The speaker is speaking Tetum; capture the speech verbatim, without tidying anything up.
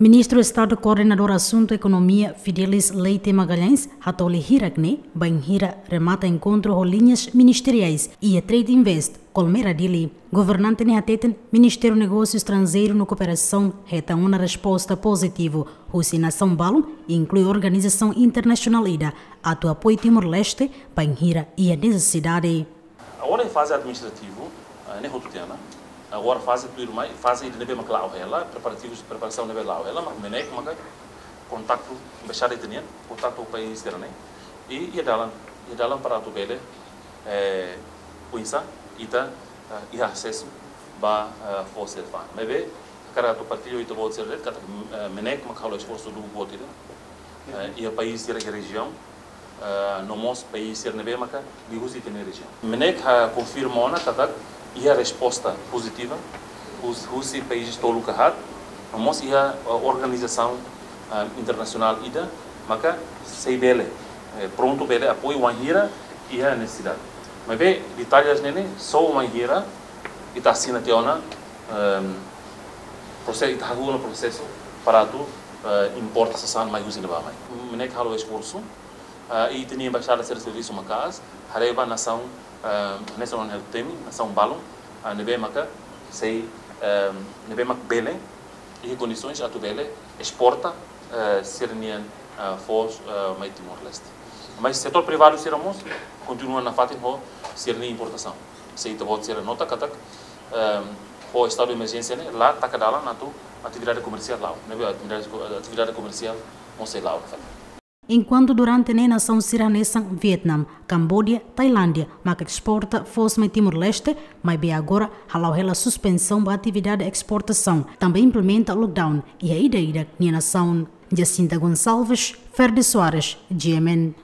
Ministru Estadu Koordenadór Asuntu Ekonomia, Fidelis Leite Magalhães, hatoli hirak ne'e bainhira remata enkontru ho liñas ministeriais iha Trade Invest, Colmera, Dili. Governante ne'e hateten Ministériu Negósiu Estranjeiru no Kooperasaun hetan ona resposta pozitivu husi nasaun balun, inklui organizasaun internasionál ida, atu apoiu Timor-Leste bainhira iha nesesidade. Agora é faze administrativu, eh, ne'e hotu tiha ona. Agora faze tuirmai, faze ida ne'ebé mak la'o hela, preparativus, preparasaun ne'ebé la'o hela, mak MNEK maka kontaktu, embaixada ita-nian kontaktu ho país sira-ne'e. I, iha dalan, iha dalan para atu bele, eh, oinsá ita, eh, iha asesu ba, eh, foos sira-ne'e. Maibé hakarak atu partilla ho ita-boot sira de'it katak, eh, MNEK maka halo esforsu duni buat ida, eh, iha país sira iha rejiaun, eh, no mós país sira ne'ebé maka liuhusi ita-nia rejiaun. MNEK konfirma ona katak iha resposta pozitiva hus-, husi país tolu ka haat, no mós iha, eh, organizasaun, eh, internasionál ida maka sei bele, eh, prontu bele apoiu wainhira iha nesesidade. Maibé detalles ne'e ne'e só wainhira ita asina tiha ona, ehm, prose-, ita hahú ona prosesu para atu, eh, importa sasán mai husi ne'ebá mai. MNEK halo esforsu, eh, i ita-nia embaixada sira servisu maka'as, haree ba nasaun, eh, nasaun ne'e temi, nasaun balun, eh, ne'ebé maka sei, eh, ne'ebé mak bele, iha kondisoens atu bele esporta, eh, sira-nian, eh, foos, eh, mai Timor-Leste. Mas setór privadu sira mós kontinua nafatin ho sira-nia importasaun. Se ita-boot sira nota katak, eh, ho estadu de emerjénsia ne'e la taka dalan atu atividade komersiál la'o. Ne'ebé atividade ko-, atividade komersiál mós sei la'o nafatin. Enkuantu durante ne'e nasaun sira hanesan Vietnam, Cambodia, Tailándia maka esporta foos mai Timor-Leste, maibé agora hala'o hela suspensaun ba atividade esportasaun, tanba implementa lockdown iha ida-idak nia nasaun. Jacinta Gonçalves, Ferde Soares, G M N.